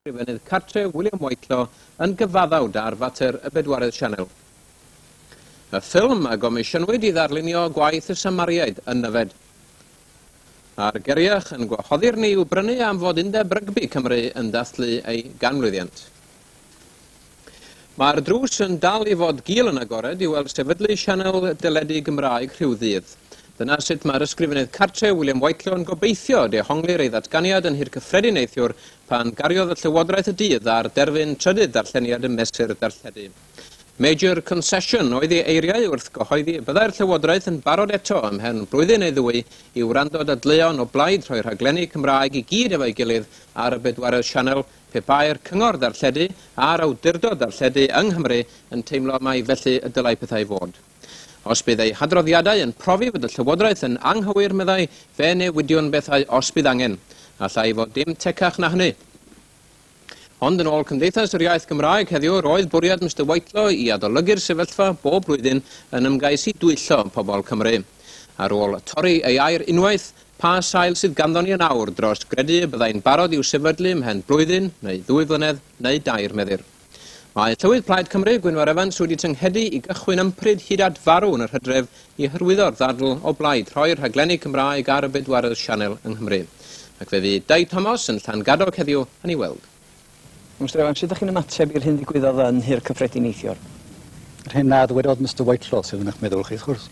Ysgrifennydd Cartref William Whitelaw yn gyfaddawd ar fater y bedwaredd sianel. Y ffilm a gomisiynwyd i ddarlunio gwaith y Samariaid yn Nyfed. A'r Geriach yn gwahoddi'r ni i'w brynu am fod Undeb Rygbi Cymru yn dathlu ei ganmlwyddiant. Mae'r drws yn dal i fod gul yn agored i weld sefydlu sianel deledu Gymraeg rhyw ddydd. Dyna sut mae'r Ysgrifennydd Cartref William Whitelaw yn gobeithio dehonglir ei ddatganiad yn Nhŷ'r Cyffredin neithiwr pan gariodd y Llywodraeth y dydd ar derfyn trydydd darlleniad y mesur darlledu. Major concession oedd ei eiriau wrth gyhoeddi y byddai'r Llywodraeth yn barod eto ymhen blwyddyn neu ddwy i wrando dadleuon o blaid rhoi rhaglenni Cymraeg i gyd efo'i gilydd ar y bedwaredd sianel pe bai'r Cyngor Darlledu a'r Awdurdod Darlledu yng Nghymru yn teimlo mai felly y dylai pethau fod. Os bydd eu hadroddiadau yn profi fod y Llywodraeth yn anghywir, meddai, fe newidiwn bethau os bydd angen. Allai fod dim tecach na hynny. Ond yn ôl Cymdeithas yr Iaith Gymraeg heddiw, roedd bwriad Mister Whitelaw i adolygu'r sefyllfa bob blwyddyn yn ymgais i dwyllo pobl Cymru. Ar ôl torri ei air unwaith, pa sail sydd ganddo ni yn awr dros gredu y byddai'n barod i'w sefydlu ymhen blwyddyn, neu ddwy flynedd, neu dair, meddir. Mae Llywydd Plaid Cymru, Gwynfor Evans, wedi tynghedu i gychwyn ympryd hyd at farw yn yr hydref i hyrwyddo'r ddadl o blaid rhoi'r rhaglenni Cymraeg ar y bedwaredd sianel yng Nghymru. Ac fe fydd Dai Thomas yn Llangadog heddiw yn ei weld. Mr Evans, sut ydych chi'n ymateb i'r hyn ddigwyddodd yn Nhŷ'r Cyffredin neithiwr? Yr hyn na ddwedodd Mr Whitelaw sydd yn eich meddwl chi, wrth gwrs.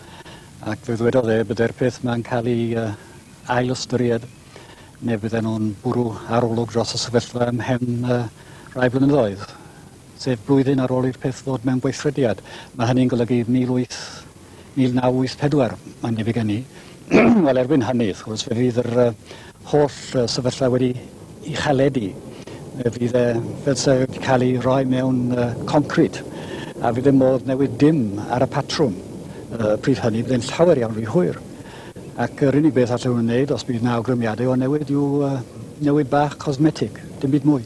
Ac fe ddwedodd e byddai'r peth ma'n cael ei ail ystyried, neu bydden nhw'n bwrw arolwg dros y sefyllfa ymhen rai blynyddoedd, sef blwyddyn ar ôl i'r peth ddod mewn gweithrediad. Mae hynny'n golygu 1984, mae'n debyg gen i. Wel, erbyn hynny, wrth gwrs, fe fydd yr holl sefyllfa wedi ei chaledu. Fe fydd e fel se wedi cael ei roi mewn concrit, a fydd ddim modd newid dim ar y patrwm. Pryd hynny, bydd e'n llawer iawn rhy hwyr. Ac yr unig beth allan nhw'n wneud, os bydd 'na awgrymiadau o newid, yw newid bach cosmetig, dim byd mwy.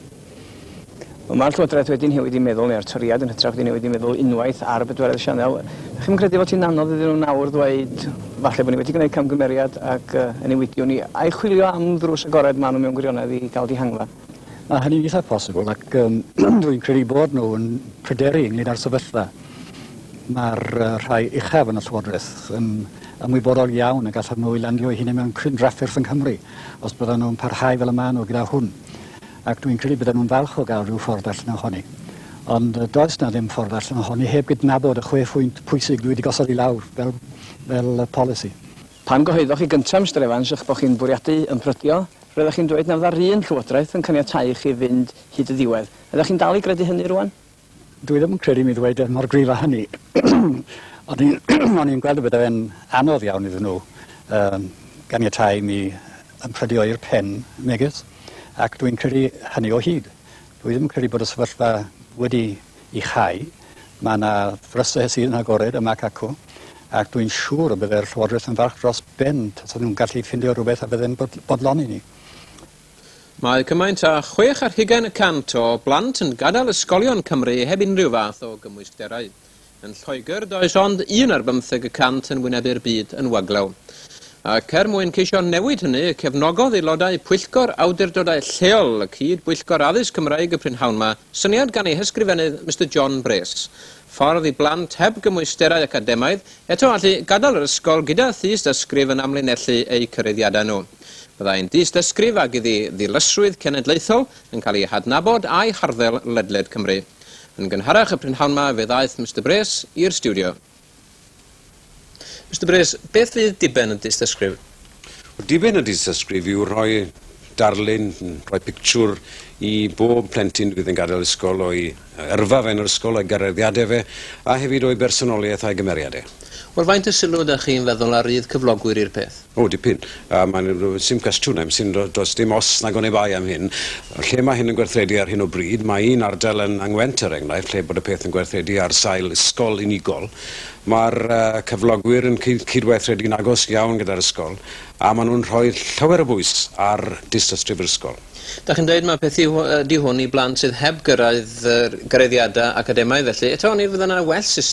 Wel, mae'r Llywodraeth wedi newid i meddwl, neu'r Torïaid yn hytrach wedi newid i meddwl unwaith ar y bedwaredd sianel. Ydych chi'n credu fod hi'n anodd iddyn nhw nawr ddweud falle bod ni wedi gwneud camgymeriad ac y newidiwn ni, a'i chwilio am ddrws agored maen nhw mewn gwirionedd i gael dihangfa? Mae hynny'n eitha posibl ac dwi'n credu bod nhw yn pryderu ynglyn â'r sefyllfa. Mae'r rhai uchaf yn y Llywodraeth yn ymwybodol iawn y gallan nhw i landio eu hunain mewn cryn drafferth yng Nghymru os byddan nhw'n parhau fel y maen nhw gyda hwn. Ac dwi'n credu bydden nhw'n falch o gael rhyw ffordd allan ohoni. Ond does na ddim ffordd allan ohoni heb gydnabod y 6 phwynt pwysig dwi wedi gosod i lawr fel polisi. Pan gyhoeddoch chi gyntaf, Mr Evans, eich bod chi'n bwriadu ymprydio, roeddech chi'n dweud na fydda'r un Llywodraeth yn caniatáu i chi fynd hyd y diwedd. Ydych chi'n dal i gredu hynny rwan? Dwi ddim yn credu mi ddweud e mor gryf â hynny. O'n i'n gweld y bydde fe'n anodd iawn iddyn nhw ganiatáu mi ymprydio i'r pen, megis, ac dwi'n credu hynny o hyd. Dwi ddim yn credu bod y sefyllfa wedi ei chau. Mae yna ddrysau sydd yn agored yma ac acw, ac dwi'n siŵr y bydde'r Llywodraeth yn falch dros ben tasen nhw'n gallu ffindio rhywbeth a bydde'n bodloni ni. Mae cymaint â 26% o blant yn gadael ysgolion Cymru heb unrhyw fath o gymwysterau. Yn Lloegr, does ond 1% yn wynebu'r byd yn waglaw. Ac er mwyn ceisio newid hynny, cefnogodd aelodau Pwyllgor Awdurdodau Lleol y Cyd-bwyllgor Addysg Cymraeg y prynhawn 'ma, syniad gan ei hysgrifennydd Mr John Brace. Ffordd i blant heb gymwysterau academaidd eto allu gadael yr ysgol gyda thystysgrif yn amlinellu eu cyraeddiadau nhw. Byddai'n dystysgrif ag iddi ddilysrwydd cenedlaethol yn cael ei hadnabod a'i harddel ledled Cymru. Yn gynharach y prynhawn 'ma fe ddaeth Mr Brace i'r stiwdio. Mr Brace, beth fydd diben y dystysgrif? Diben y dystysgrif yw rhoi darlun, rhoi pictiwr i bob plentyn fydd yn gadael ysgol o'i yrfa fe yn yr ysgol, o'i gyraeddiadau fe, a hefyd o'i bersonoliaeth a'i gymeriadau. Wel, faint o sylw ydych chi'n feddwl a rydd cyflogwyr i'r peth? O, dipyn. Mae'n sim cwestiwn, sim, does dim os nag oni bai am hyn. Lle mae hyn yn gweithredu ar hyn o bryd, mae un ardal yng Ngwent, er enghraifft, lle bod y peth yn gweithredu ar sail ysgol unigol. Mae'r cyflogwyr yn cydweithredu'n agos iawn gyda'r ysgol, a maen nhw'n rhoi llawer o bwys ar dystysgrif yr ysgol. Da chi'n dweud mae peth yw di hwn i blant sydd heb gyrraedd gyraeddiadau academaidd felly, eto ni fydda yna well system